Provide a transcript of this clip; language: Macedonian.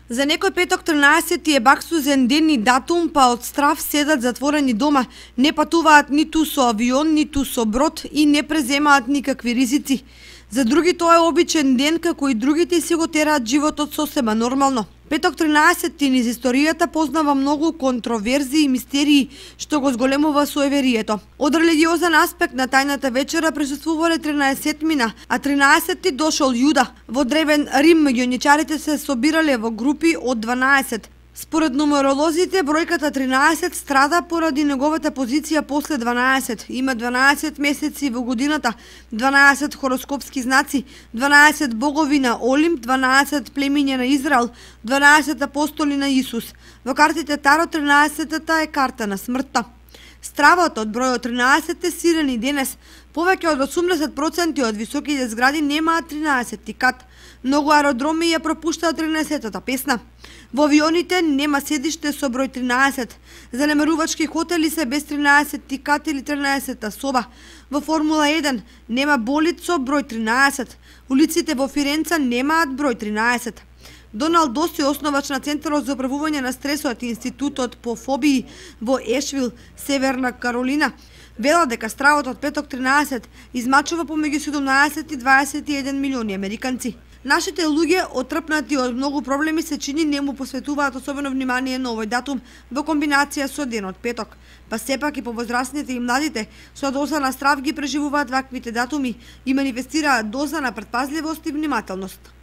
За некој петок 13 е баксузен ден и датум, па од страв седат затворени дома, не патуваат ниту со авион, ниту со брод и не преземаат никакви ризици. За други тоа е обичен ден, како и другите си го тераат животот сосема нормално. Петок 13 низ историјата познава многу контроверзии и мистерии, што го зголемува суеверието. Од религиозен аспект на тајната вечера присуствувале 13-мина, а 13-ти дошол Јуда. Во древен Рим меѓуничарите се собирале во групи од 12. Според нумеролозите, бројката 13 страда поради неговата позиција после 12. Има 12 месеци во годината, 12 хороскопски знаци, 12 богови на Олимп, 12 племиња на Израел, 12 апостоли на Исус. Во картите Таро 13-та е карта на смртта. Стравот од бројот 13 е силен и денес. Повеќе од 80% од високите згради немаат 13-ти кат. Многу аеродроми ја пропуштаат 13-та песна. Во авионите нема седиште со број 13. Занемарувачки хотели се без 13-ти кат или 13-та соба. Во Формула 1 нема болид со број 13. Улиците во Фиренца немаат број 13. Доналд Доси, основач на Центарот за управување на стресот и Институтот по фобии во Ешвил, Северна Каролина, вела дека стравот од петок 13 измачува помеѓу 17 и 21 милиони американци. Нашите луѓе, отрпнати од многу проблеми, се чини не му посветуваат особено внимание на овој датум во комбинација со денот петок. Па сепак и повозрастните и младите со доза на страв ги преживуваат ваквите датуми и манифестираат доза на претпазливост и внимателност.